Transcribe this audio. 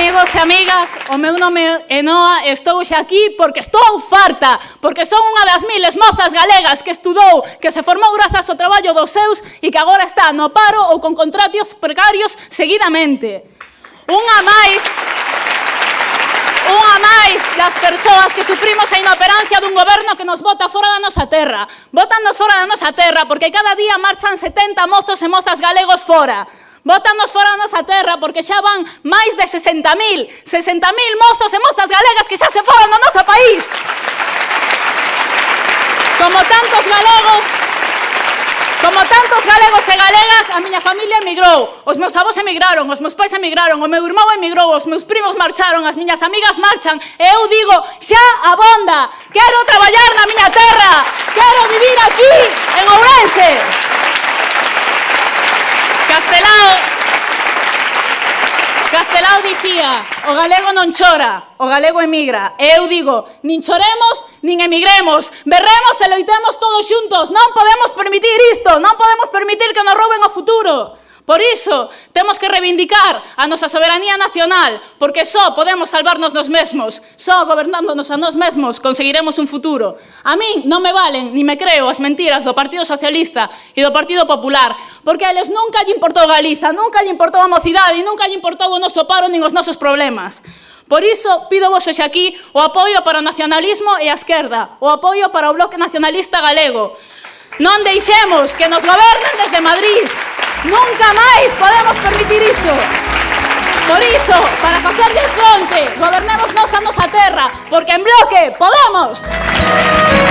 Amigos e amigas, o meu nome é Noa e estou hoxe aquí porque estou farta, porque son unha das miles mozas galegas que estudou, que se formou grazas ao traballo dos seus e que agora está no paro ou con contratos precarios seguidamente. Unha máis das persoas que sufrimos a inoperancia dun goberno que nos bota fora da nosa terra. Bótanos fora da nosa terra porque cada día marchan 70 mozos e mozas galegos fora. Bótanos fora da nosa terra porque xa van máis de 60.000 mozos e mozas galegas que xa se foron do noso país. Como tantos galegos e galegas, a miña familia emigrou, os meus avós emigraron, os meus pais emigraron, o meu irmão emigrou, os meus primos marcharon, as miñas amigas marchan, e eu digo, xa abonda, quero traballar na miña terra, quero vivir aquí, en Ourense. Castelao dicía, o galego non chora, o galego emigra. E eu digo, nin choremos, nin emigremos, berremos e loitemos todos xuntos. Non podemos permitir isto, non podemos permitir que nos rouben o futuro. Por iso, temos que reivindicar a nosa soberanía nacional, porque só podemos salvarnos nos mesmos, só gobernándonos a nós mesmos conseguiremos un futuro. A min non me valen, ni me creo as mentiras do Partido Socialista e do Partido Popular, porque a eles nunca lle importou Galiza, nunca lle importou a mocidade e nunca lle importou o noso paro nin os nosos problemas. Por iso, pido vos hoxe aquí o apoio para o nacionalismo e a esquerda, o apoio para o Bloque Nacionalista Galego. Non deixemos que nos gobernen desde Madrid. Nunca máis podemos permitir iso. Por iso, para facerlles fronte, gobernemos nos a nosa terra, porque en bloque podemos.